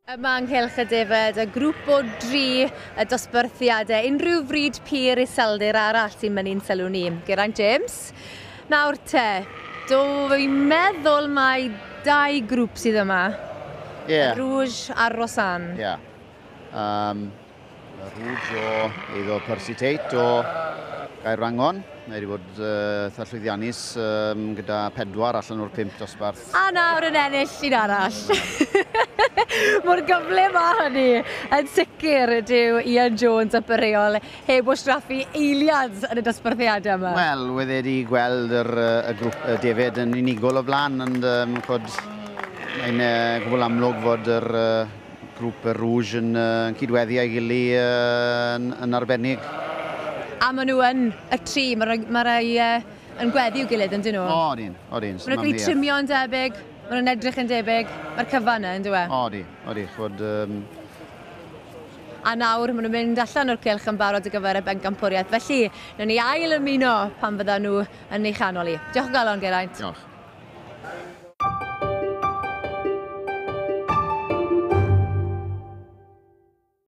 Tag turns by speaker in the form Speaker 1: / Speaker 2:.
Speaker 1: Yma yng Nghylch y Defaid, y grŵp o dri y dosbarthiadau, unrhyw fryd pur iseldir arall sy'n mynnu'n sylw ni. Geraint James, nawr te, do fi'n meddwl mai dau grŵp sydd yma.
Speaker 2: Ie. Yeah.
Speaker 1: Rouge a'r Rosanne.
Speaker 2: Ie. Yeah. Y Rouge o eiddo Percy Tate o Gaerwrangon. Mae wedi bod eitha llwyddiannus gyda 4 allan o'r 5 dosbarth.
Speaker 1: A nawr yn ennill un arall. Mor gyflym â hynny. Yn sicr dyw Ian Jones a Reol heb wastraffu eiliad yn y dosbarthiadau yma.
Speaker 2: Wel, wedd e wedi gweld yr, y grŵp y defaid yn unigol o blaen, ond chod, mae'n gwbl amlwg fod yr grŵp y Rouge yn cydweddu â'i gilydd yn arbennig.
Speaker 1: A maen nhw yn y tri, mae ma rai yn gweddu i'w gilydd, yn dyn nhw?
Speaker 2: O, odyn, odyn.
Speaker 1: Maen nhw'n cael eu trimio yn debyg, maen nhw'n edrych yn debyg, mae'r cyfan yna, yn dyw e?
Speaker 2: Odi, odi, chod.
Speaker 1: A nawr maen nhw'n mynd allan o'r cylch yn barod ar gyfer y bencampwriaeth. Felly, nawn ni ail ymuno pan fyddan nhw yn ei chanol i. Diolch o galon, Geraint.
Speaker 2: Diolch.